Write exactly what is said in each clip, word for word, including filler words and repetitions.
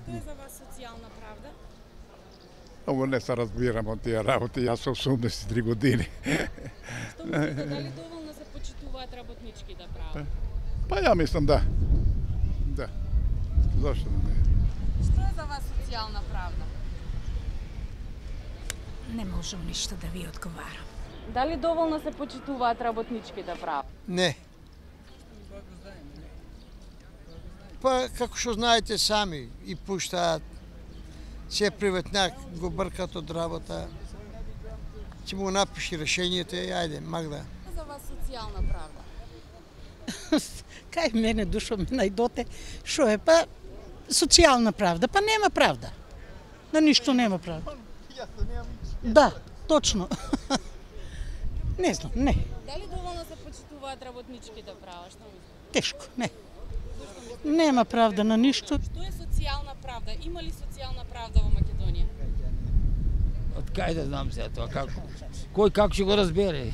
Што е за вас социјална правда? Ово не се разбирам од тие работи, јас сум осумдесет и три години. Што мислите, дали доволно се почитуваат работничките права? Па ја мислам да. Да. Зошто не? Што е за вас социјална правда? Не можам ништо да ви одговарам. Дали доволно се почитуваат работничките права? Не. Па, како што знаете сами, и пуштаат, се приветняк го бркат од работа, ќе му напиши решението и ајде, Магда. Што е за вас социјална правда? Кај мене душо ме најдоте, шо е па социјална правда, па нема правда. На ништо нема правда. Да, точно. Не знам, не. Дали доволно се почитуваат работничките права? Што мислите? Тешко, не. Нема правда на ништо. Што е социјална правда? Има ли социјална правда во Македонија? Од кај да знам се тоа, како? Кој како ќе го разбере?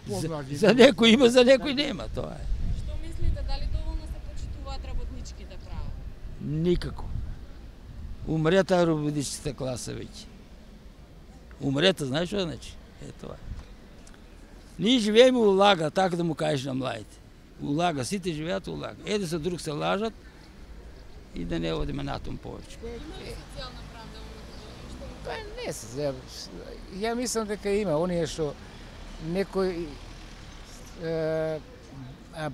За, за некој има, за некој нема, тоа е. Што мислите, дали доволно се почитуваат работничките права? Никако. Умрета работничката класа веќе. Умрета, знаеш што значи? Е тоа. Ние живееме у лага, така да му кажеш на младите. Улага, сите живеат улага. Еде со друг се лажат и да не одиме натом повеќе. Има ли социјална правда во Македонија? Па не се, ја, ја мислам дека има, оние што некои е,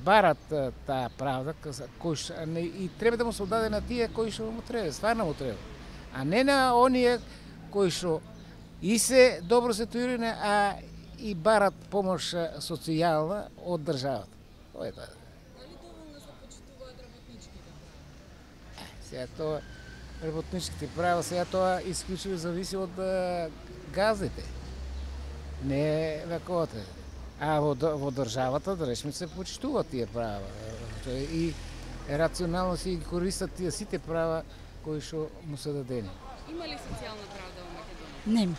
барат таа правда, кој што, не, и треба да му се отдаде на тие кои што му треба, стварно му треба. А не на оние кои што и се добро ситуирани, а и барат помош социјална од државата. Тоа е тоа. Дали доволно се почитуваат работничките права? Сега тоа работничките права, сега тоа исклучиво зависи од газите. Не вековата. А во, во државата, да речеме, се почитуваат тие права. И рационално си користат тие сите права кои што му се дадени. Има ли социјална правда во Македонија? Нема.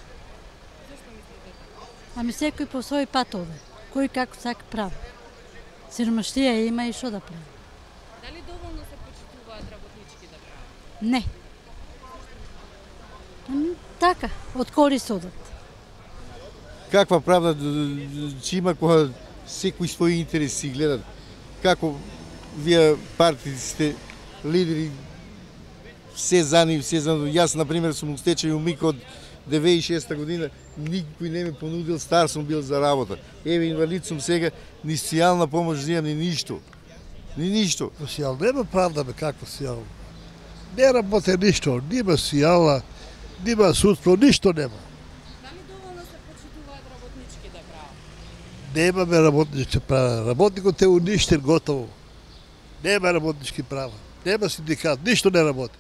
Зошто мислите така? Ами секој по свој патове. Кој како сака прави. Сиромаштија има и што да прави. Дали доволно се почитуваат работничките права? Не. Ами, така, од корист одат. Каква правда ќе има кога секој своји интереси гледат? Како вие партиите сте лидери, се за нив, се за нив. Јас, например, сум стечај умик од деветдесет и шеста година, никој не ме понудил, стар сум бил за работа. Еве, инвалид сум сега, ни социјална помош земам, ни ништо. Ни ништо. Социјална, нема правда, бе, како социјална. Не работе ништо, нема социјална, нема судство, ништо нема. Дали доволно се почитуваат работничките права? Немаме работнички права. Работникот е уништен готово. Нема работнички права. Нема синдикат, ништо не работи.